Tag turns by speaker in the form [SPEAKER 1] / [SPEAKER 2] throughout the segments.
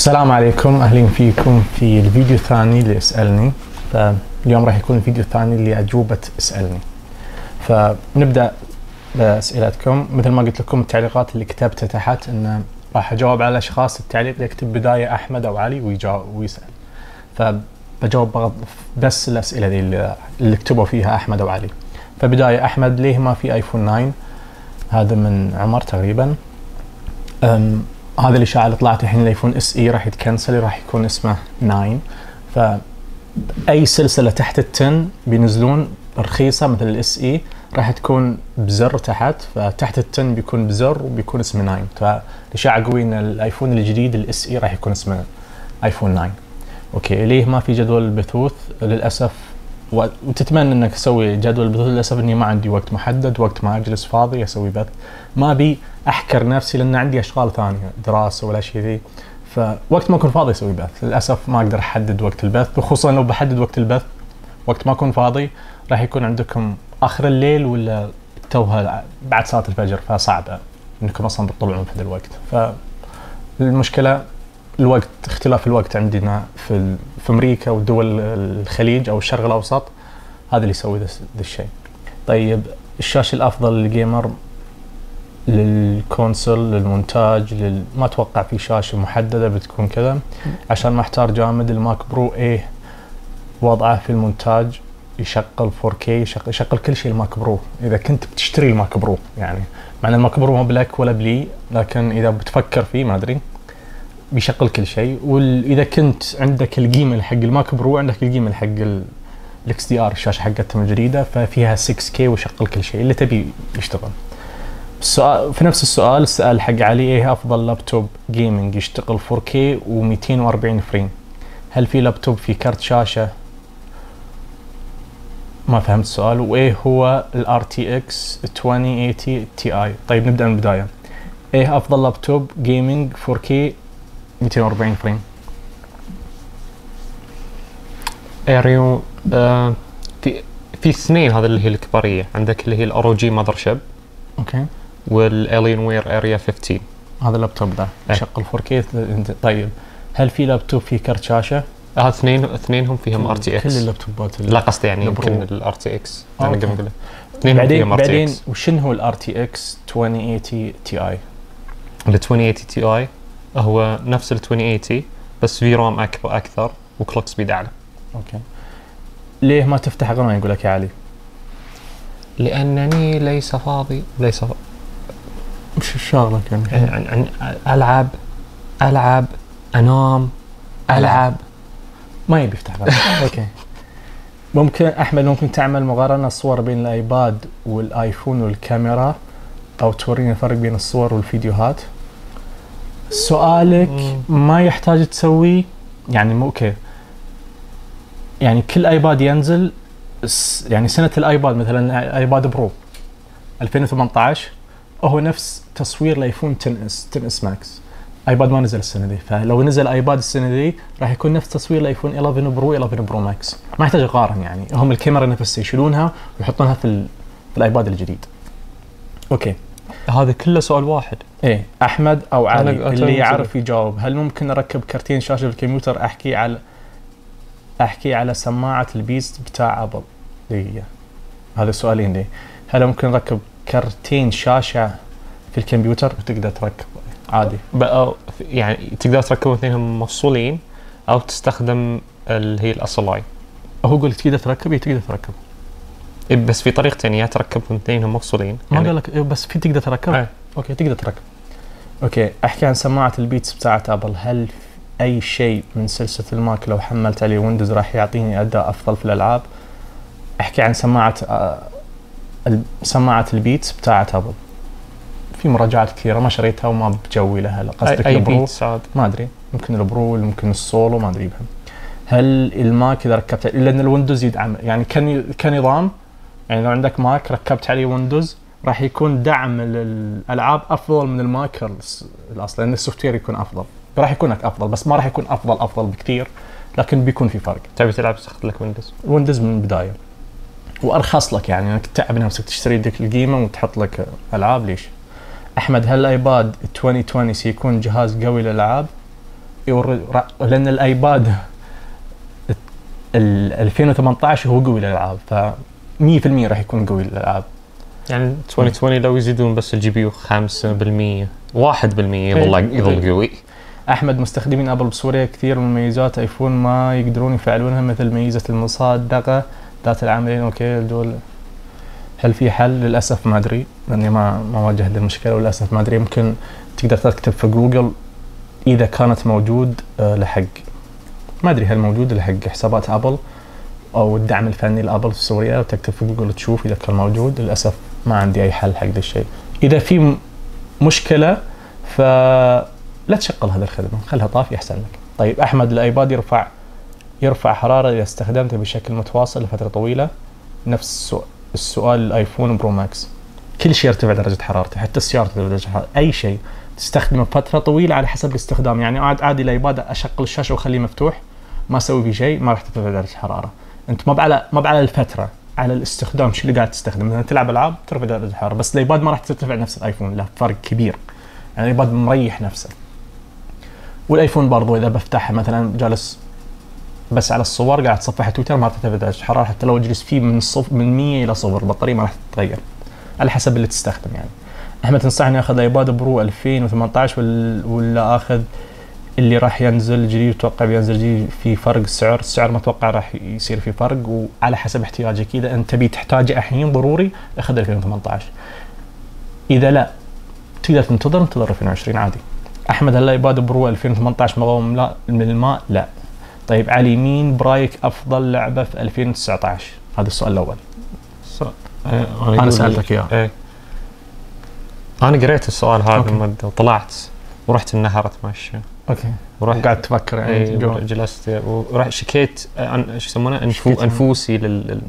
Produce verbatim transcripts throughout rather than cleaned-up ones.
[SPEAKER 1] السلام عليكم، أهلين فيكم في الفيديو الثاني اللي اسألني. فاليوم راح يكون الفيديو الثاني اللي أجوبة اسألني. فنبدأ بأسئلتكم. مثل ما قلت لكم التعليقات اللي كتبتها تحت إن راح أجاوب على الأشخاص التعليق اللي يكتب بداية أحمد أو علي ويجاوب ويسأل. فبجاوب بس الأسئلة دي اللي, اللي كتبوا فيها أحمد أو علي. فبداية أحمد، ليه ما في آيفون ناين؟ هذا من عمر تقريبا. أم هذا الإشاعة اللي طلعت الحين الايفون اس اي راح يتكنسل، راح يكون اسمه ناين. فأي سلسلة تحت التن بينزلون رخيصة مثل الاس اي راح تكون بزر تحت، فتحت التن بيكون بزر وبيكون اسمه ناين. فالإشاعة قوية ان الايفون الجديد الاس اي راح يكون اسمه ايفون ناين. اوكي، ليه ما في جدول البثوث؟ للأسف وتتمنى انك تسوي جدول البثوث، للاسف اني ما عندي وقت محدد، وقت ما اجلس فاضي اسوي بث. ما ابي احكر نفسي لان عندي اشغال ثانيه، دراسه ولا شيء ذي، فوقت ما اكون فاضي اسوي بث. للاسف ما اقدر احدد وقت البث، وخصوصا لو بحدد وقت البث وقت ما اكون فاضي راح يكون عندكم اخر الليل ولا توها بعد صلاه الفجر، فصعب انكم اصلا تطلعون في ذا الوقت. فالمشكله الوقت، اختلاف الوقت عندنا في في امريكا ودول الخليج او الشرق الاوسط، هذا اللي يسوي ذا الشيء. طيب، الشاشه الافضل للجيمر، للكونسول، للمونتاج، لل... ما اتوقع في شاشه محدده بتكون كذا. عشان ما احتار جامد، الماك برو ايه وضعه في المونتاج؟ يشغل فور كي، يشغل, يشغل كل شيء الماك برو اذا كنت بتشتري الماك برو. يعني مع ان الماك برو ما بلك ولا بلي، لكن اذا بتفكر فيه ما ادري بيشغل كل شيء. واذا كنت عندك القيمه حق الماك برو عندك القيمه حق الاكس دي ار، الشاشه حقتهم الجديده، ففيها ستة كي ويشغل كل شيء اللي تبي يشتغل. السؤال في نفس السؤال السؤال حق علي، ايه افضل لابتوب جيمنج يشتغل فور كي و240 فريم؟ هل في لابتوب في كارت شاشه؟ ما فهمت السؤال. وايه هو الار تي اكس عشرين ثمانين تي اي؟ طيب نبدا من البدايه. ايه افضل لابتوب جيمنج فور كي مئتين وأربعين فريم؟
[SPEAKER 2] اريو آه في في اثنين، هذا اللي هي الكباريه، عندك اللي هي الار او جي ماذر شيب،
[SPEAKER 1] اوكي،
[SPEAKER 2] والالين وير اريا خمستاشر.
[SPEAKER 1] هذا اللابتوب ده يشغل فور كي. طيب، هل في لابتوب في كرت شاشه؟
[SPEAKER 2] هذا اثنين اثنينهم فيهم ار تي اكس.
[SPEAKER 1] كل اللابتوبات
[SPEAKER 2] لا قصدي يعني يمكن الار تي اكس انا قبل اقول
[SPEAKER 1] اثنين فيهم ار تي اكس. وشنو هو الار تي اكس عشرين ثمانين تي اي؟
[SPEAKER 2] ال عشرين ثمانين تي اي هو نفس ال عشرين ثمانين بس في رام اكبر اكثر وكلوك سبيد اعلى.
[SPEAKER 1] اوكي، ليه ما تفتح قناه يقول لك يا علي؟
[SPEAKER 2] لانني ليس فاضي. ليس فاضي.
[SPEAKER 1] وش شغلك يعني؟
[SPEAKER 2] يعني العب العب انام العب
[SPEAKER 1] ما يبي يفتح قناه. اوكي، ممكن احمد ممكن تعمل مقارنه صور بين الايباد والايفون والكاميرا، او تورينا الفرق بين الصور والفيديوهات؟ سؤالك مم. ما يحتاج تسوي يعني مو اوكي. يعني كل ايباد ينزل، يعني سنه الايباد مثلا ايباد برو ألفين وثمانية عشر هو نفس تصوير الايفون عشرة اس عشرة اس ماكس. ايباد ما نزل السنه دي، فلو نزل ايباد السنه دي راح يكون نفس تصوير الايفون إحدى عشر برو إحدى عشر برو ماكس. ما يحتاج اقارن، يعني هم الكاميرا نفسها يشيلونها ويحطونها في, في الايباد الجديد. اوكي،
[SPEAKER 2] هذا كله سؤال واحد.
[SPEAKER 1] ايه، احمد او علي اللي يعرف يجاوب. هل ممكن اركب كرتين شاشه بالكمبيوتر؟ احكي على احكي على سماعه البيست بتاع ابل دي. هذا سؤالين دي. هل ممكن نركب كرتين شاشه في الكمبيوتر؟ وتقدر تركب عادي
[SPEAKER 2] بقى، يعني تقدر تركبهم اثنينهم مفصولين او تستخدم اللي هي الاصلاي.
[SPEAKER 1] هو يقول تقدر تركب، تقدر تركب
[SPEAKER 2] بس في طريقتين، يا تركبهم اثنينهم مفصولين.
[SPEAKER 1] ما يعني قال لك بس في تقدر تركب.
[SPEAKER 2] ايه.
[SPEAKER 1] اوكي، تقدر تركب. اوكي، احكي عن سماعه البيتس بتاعت ابل. هل اي شيء من سلسله الماك لو حملت عليه ويندوز راح يعطيني اداء افضل في الالعاب؟ احكي عن سماعه آه سماعه البيتس بتاعت ابل. في مراجعات كثيره ما شريتها وما بجوي لها. قصدك البرو؟ ما ادري، ممكن البرو ممكن السولو ما ادري بهم. هل الماك اذا ركبت، لان الويندوز يدعم يعني كنظام، يعني لو عندك ماك ركبت عليه ويندوز راح يكون دعم للالعاب افضل من الماك الاصلي، لان السوفت وير يكون افضل، راح يكون لك افضل بس ما راح يكون افضل افضل بكثير، لكن بيكون في فرق.
[SPEAKER 2] تبي تلعب تاخذ لك ويندوز
[SPEAKER 1] ويندوز من البدايه وارخص لك، يعني انك تتعب نفسك تشتري ديك القيمه وتحط لك العاب. ليش؟ احمد، هل الايباد عشرين عشرين سيكون جهاز قوي للالعاب؟ يور... لان الايباد ال ألفين وثمانية عشر هو قوي للالعاب، ف مية بالمية راح يكون قوي للالعاب.
[SPEAKER 2] يعني ألفين وعشرين لو يزيدون بس الجي بي يو خمسة بالمية واحد بالمية يظل يظل قوي.
[SPEAKER 1] احمد، مستخدمين ابل بسوريا كثير من مميزات ايفون ما يقدرون يفعلونها، مثل ميزه المصادقه ذات العاملين. اوكي دول هل في حل؟ للاسف ما ادري، لاني ما ما واجهت المشكله وللاسف ما ادري. يمكن تقدر تكتب في جوجل اذا كانت موجود لحق، ما ادري هل موجود لحق حسابات ابل او الدعم الفني لابل في سوريا، وتكتب في جوجل تشوف اذا كان موجود. للاسف ما عندي اي حل حق ذا الشيء. اذا في مشكله فلا تشغل هذه الخدمه، خلها طافي احسن لك. طيب احمد، الايباد يرفع يرفع حراره اذا استخدمته بشكل متواصل لفتره طويله؟ نفس السؤال الايفون برو ماكس، كل شيء يرتفع درجه حرارته، حتى السياره ترتفع درجه حرارته، اي شيء تستخدمه فتره طويله على حسب الاستخدام. يعني عاد عادي الايباد اشغل الشاشه واخليه مفتوح ما اسوي فيه شيء، ما راح ترتفع درجه الحراره. انت ما على ما على الفتره، على الاستخدام، شو اللي قاعد تستخدم. مثلا تلعب العاب ترفع درجه الحراره، بس الايباد ما راح ترتفع نفس الايفون، له فرق كبير. يعني الايباد مريح نفسه. والايفون برضو اذا بفتحها مثلا جالس بس على الصور قاعد تصفح تويتر ما ترتفع درجه الحراره، حتى لو اجلس فيه من صف من مية الى صفر البطاريه ما راح تتغير، على حسب اللي تستخدم. يعني احمد، تنصحني اخذ ايباد برو ألفين وثمانية عشر ولا اخذ اللي راح ينزل جديد؟ اتوقع بينزل جديد في فرق سعر، السعر ما اتوقع راح يصير في فرق، وعلى حسب احتياجك. اذا انت تبي تحتاجه الحين ضروري اخذ ألفين وثمانية عشر، اذا لا تقدر تنتظر انتظر ألفين وعشرين عادي. احمد، هل الايباد برو ألفين وثمانية عشر مقاوم لا من الماء؟ لا. طيب علي، مين برايك افضل لعبه في ألفين وتسعة عشر؟ هذا السؤال الاول.
[SPEAKER 2] أه
[SPEAKER 1] انا سالتك اياه.
[SPEAKER 2] ايه انا قريت السؤال هذا مده وطلعت ورحت النهر اتمشى.
[SPEAKER 1] اوكي.
[SPEAKER 2] ورحت
[SPEAKER 1] قاعد تفكر يعني.
[SPEAKER 2] ايه جلست ورحت شكيت عن شو يسمونه أنفو انفوسي لل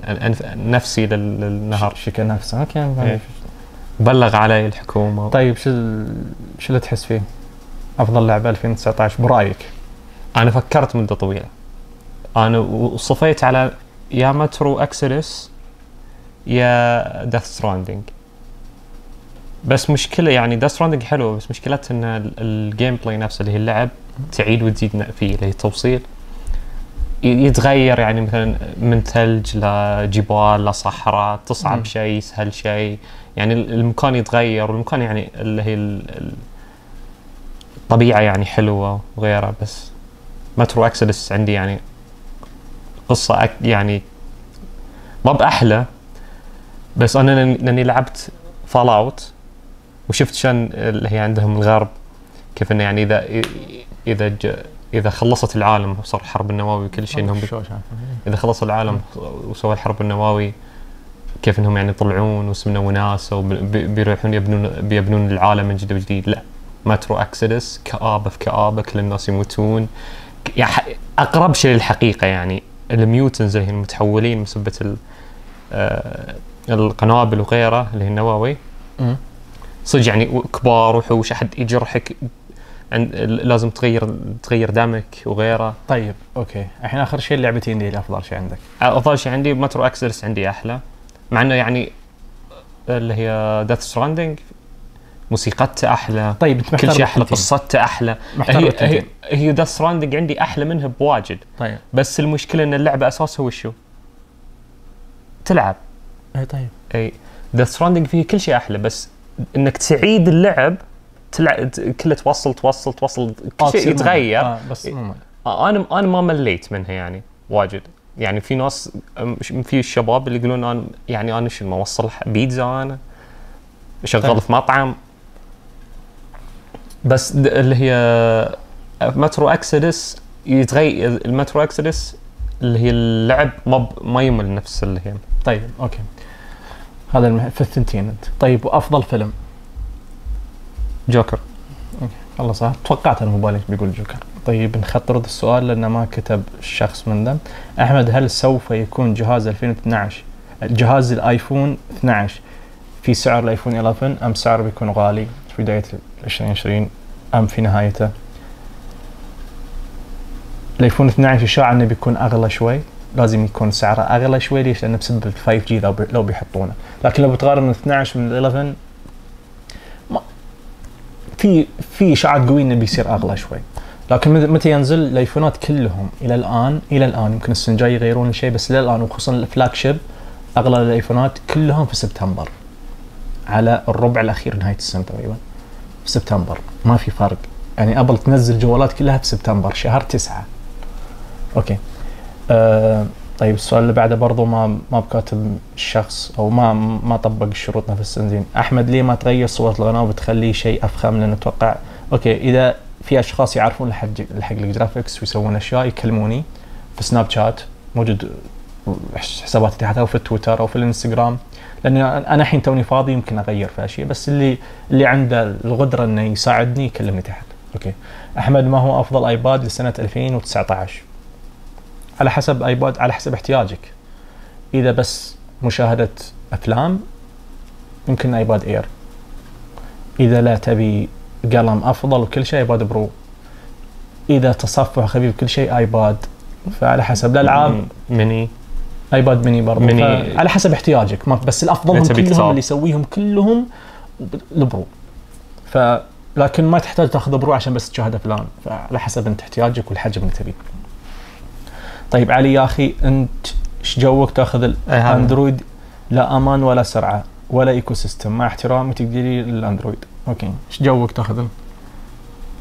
[SPEAKER 2] نفسي للنهر.
[SPEAKER 1] شكى نفسه. اوكي.
[SPEAKER 2] ايه. بلغ علي الحكومه.
[SPEAKER 1] طيب شو شو اللي تحس فيه افضل لعبه ألفين وتسعة عشر برايك؟
[SPEAKER 2] انا فكرت مده طويله، انا وصفيت على يا مترو اكسلس يا ديث ستراندنج. بس مشكله يعني ديث ستراندنج حلوه، بس مشكلتها ان الجيم بلاي نفسه اللي هي اللعب تعيد وتزيد فيه، اللي هي التوصيل يتغير. يعني مثلا من ثلج لجبال لصحراء، تصعب شيء يسهل شيء، يعني المكان يتغير، والمكان يعني اللي هي الطبيعه يعني حلوه وغيرها. بس مترو اكسلس عندي يعني قصه أك يعني ما بأحلى، بس انا لاني لعبت فال اوت وشفت شان اللي هي عندهم الغرب كيف انه يعني اذا اذا اذا خلصت العالم وصار الحرب النووي وكل شيء، انهم اذا خلصوا العالم وسووا الحرب النووي كيف انهم يعني يطلعون وسمنوا ناس وبيروحون يبنون بيبنون العالم من جديد وجديد. لا، مترو اكسلس كآبه في كآبه، كل الناس يموتون، يعني اقرب شيء للحقيقه. يعني الميوتنز اللي هي المتحولين بسبه آه القنابل وغيره اللي هي النووي صدق يعني كبار وحوش، احد يجرحك عند لازم تغير تغير دمك وغيره.
[SPEAKER 1] طيب اوكي، الحين اخر شيء اللعبتين دي الافضل شيء عندك؟
[SPEAKER 2] افضل شيء عندي مترو اكسلس، عندي احلى، مع انه يعني اللي هي ديث ستراندنج موسيقتها احلى.
[SPEAKER 1] طيب انت
[SPEAKER 2] كل شيء احلى، قصتها احلى. هي هي, هي ديث ستراندنج عندي احلى منها بواجد.
[SPEAKER 1] طيب
[SPEAKER 2] بس المشكله ان اللعبه اساسها وشو تلعب.
[SPEAKER 1] اي طيب
[SPEAKER 2] اي ديث ستراندنج فيه كل شيء احلى، بس انك تعيد اللعب تلعب كله توصل توصل توصل كل شيء يتغير.
[SPEAKER 1] آه بس مو
[SPEAKER 2] آه انا انا ما مليت منها يعني واجد. يعني في ناس في الشباب اللي يقولون انا يعني انا شو ما اوصل بيتزا انا شغال طيب. في مطعم. بس اللي هي مترو اكسلس يتغير، المترو اكسلس اللي هي اللعب ما ما يمل نفس اللي هي.
[SPEAKER 1] طيب اوكي، هذا المح... في الثنتين انت. طيب وافضل فيلم؟
[SPEAKER 2] جوكر.
[SPEAKER 1] اوكي والله صح، توقعت انا مبالغ بيقول جوكر. طيب نخطر هذا السؤال لانه ما كتب الشخص من ذم. احمد، هل سوف يكون جهاز ألفين واثني عشر جهاز الايفون اثني عشر في سعر الايفون إحدى عشر ام سعره بيكون غالي في بدايه عشرين عشرين ام في نهايته؟ الايفون اثني عشر اشاع انه بيكون اغلى شوي، لازم يكون سعره اغلى شوي. ليش؟ لانه بسبب ال فايف جي لو, بي لو بيحطونه. لكن لو بتقارن اثني عشر من إحدى عشر ما في في اشاعات قويه انه بيصير اغلى شوي. لكن متى ينزل الايفونات كلهم الى الان الى الان يمكن السنه الجايه يغيرون شيء، بس الى الان وخصوصا الفلاج شيب اغلى الايفونات كلهم في سبتمبر، على الربع الاخير نهايه السنه تقريبا في سبتمبر، ما في فرق. يعني ابل تنزل جوالات كلها في سبتمبر شهر تسعة. اوكي أه طيب السؤال اللي بعده برضو ما ما بكاتب الشخص او ما ما طبق الشروط نفس الزين. احمد ليه ما تغير صورة القناة وبتخليه شيء افخم؟ لان اتوقع اوكي اذا في اشخاص يعرفون الحق الحق الجرافيكس ويسوون اشياء يكلموني في سناب شات، موجود حساباتي تحت، او في تويتر او في الانستغرام، لان انا الحين توني فاضي يمكن اغير في اشياء، بس اللي اللي عنده القدرة انه يساعدني يكلمني تحت. اوكي احمد ما هو افضل ايباد لسنة ألفين وتسعة عشر؟ على حسب ايباد، على حسب احتياجك. اذا بس مشاهدة افلام يمكن ايباد اير، اذا لا تبي قلم افضل وكل شيء ايباد برو، اذا تصفح خفيف كل شيء ايباد. فعلى حسب الالعاب
[SPEAKER 2] ميني،
[SPEAKER 1] ايباد ميني برضه،
[SPEAKER 2] ميني
[SPEAKER 1] على حسب احتياجك. بس الافضل هم كلهم اللي يسويهم كلهم البرو، ف لكن ما تحتاج تاخذ برو عشان بس تشاهد افلام، فعلى حسب انت احتياجك والحجم اللي تبيه. طيب علي يا اخي انت ايش جوك تاخذ الاندرويد؟ لا امان ولا سرعه ولا ايكو سيستم، مع احترامي تقدري الاندرويد. اوكي ايش جوك تاخذ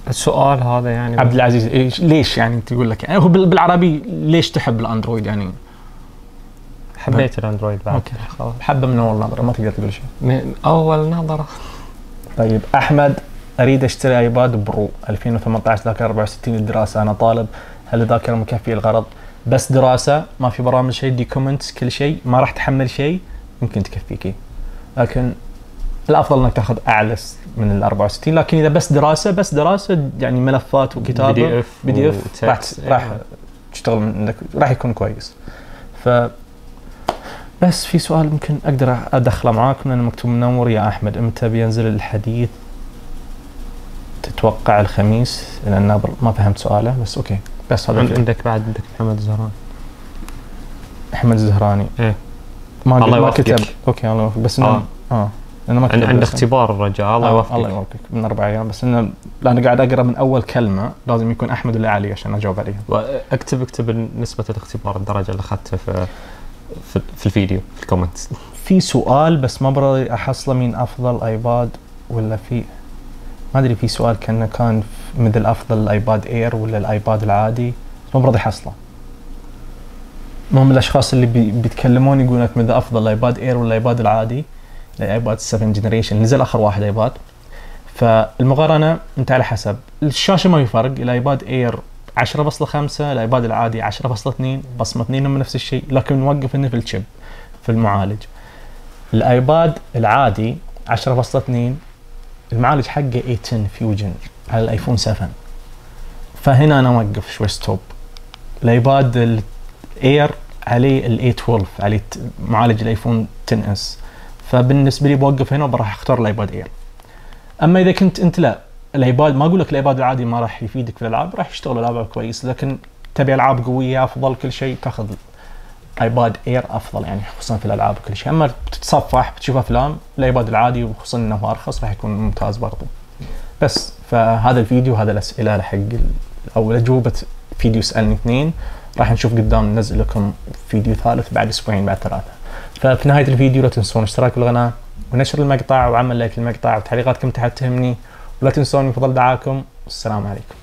[SPEAKER 2] السؤال هذا؟ يعني
[SPEAKER 1] عبد العزيز إيش ليش يعني تقول لك يعني هو بالعربي ليش تحب الاندرويد؟ يعني
[SPEAKER 2] حبيت الاندرويد بعد.
[SPEAKER 1] اوكي حبه من اول نظره، ما تقدر تقول شيء
[SPEAKER 2] من اول نظره.
[SPEAKER 1] طيب احمد اريد اشتري ايباد برو ألفين وثمانية عشر ذاكره أربعة وستين للدراسه، انا طالب، هل الذاكره مكفيه الغرض؟ بس دراسه ما في برامج شيء، دي كومنتس كل شيء، ما راح تحمل شيء، يمكن تكفيكي. لكن الافضل انك تاخذ اعلى من ال أربعة وستين. لكن اذا بس دراسه بس دراسه يعني ملفات وكتابه
[SPEAKER 2] بي دي اف
[SPEAKER 1] بي دي اف راح راح تشتغل منك، راح يكون كويس. ف بس في سؤال ممكن اقدر ادخله معاكم لانه مكتوب منور يا احمد، امتى بينزل الحديث؟ تتوقع الخميس؟ لان ما فهمت سؤاله بس اوكي. بس هذا
[SPEAKER 2] عندك بعد عندك محمد الزهراني.
[SPEAKER 1] احمد الزهراني
[SPEAKER 2] ايه
[SPEAKER 1] ما ما كتب. اوكي الله يوفقك. بس انه اه, آه. لانه ما كتب
[SPEAKER 2] عند اختبار الرجاء. الله يوفقك.
[SPEAKER 1] آه. الله يوفقك من اربع ايام. بس انه انا قاعد اقرا من اول كلمه لازم يكون احمد ولا علي عشان اجاوب عليها.
[SPEAKER 2] واكتب اكتب نسبه الاختبار الدرجه اللي اخذتها في في الفيديو في الكومنتس.
[SPEAKER 1] في سؤال بس ما برضي احصله، مين افضل ايباد ولا في ما ادري، في سؤال كان كان مثل افضل الايباد اير ولا الايباد العادي، ما برضي حصله. ما هم الاشخاص اللي بي بيتكلمون يقولون لك مثل افضل الايباد اير ولا الايباد العادي، الايباد سبعة جنريشن نزل اخر واحد ايباد. فالمقارنه انت على حسب الشاشه ما في فرق، الايباد اير عشرة فاصلة خمسة، الايباد العادي عشرة فاصلة اثنين، بصمه اثنين هم نفس الشيء، لكن نوقف انه في الشيب في المعالج. الايباد العادي عشرة فاصلة اثنين المعالج حقه إيه عشرة فيوجن على الايفون سبعة، فهنا انا اوقف شوي ستوب. الايباد الاير عليه ال إيه اثناشر عليه معالج الايفون عشرة اس، فبالنسبه لي بوقف هنا وراح اختار الايباد اير. اما اذا كنت انت لا الايباد، ما اقول لك الايباد العادي ما راح يفيدك في الالعاب، راح يشتغل العاب كويس، لكن تبي العاب قويه افضل كل شيء تاخذ ايباد اير افضل يعني خصوصا في الالعاب وكل شيء. اما بتتصفح بتشوف افلام الايباد العادي وخصوصا انه ارخص راح يكون ممتاز برضو. بس فهذا الفيديو هذا الاسئله حق او اجوبه فيديو اسالني اثنين، راح نشوف قدام ننزل لكم فيديو ثالث بعد اسبوعين بعد ثلاثه. ففي نهايه الفيديو لا تنسون اشتراك بالقناه ونشر المقطع وعمل لايك للمقطع وتعليقاتكم تحت تهمني، ولا تنسون من فضل دعاكم. والسلام عليكم.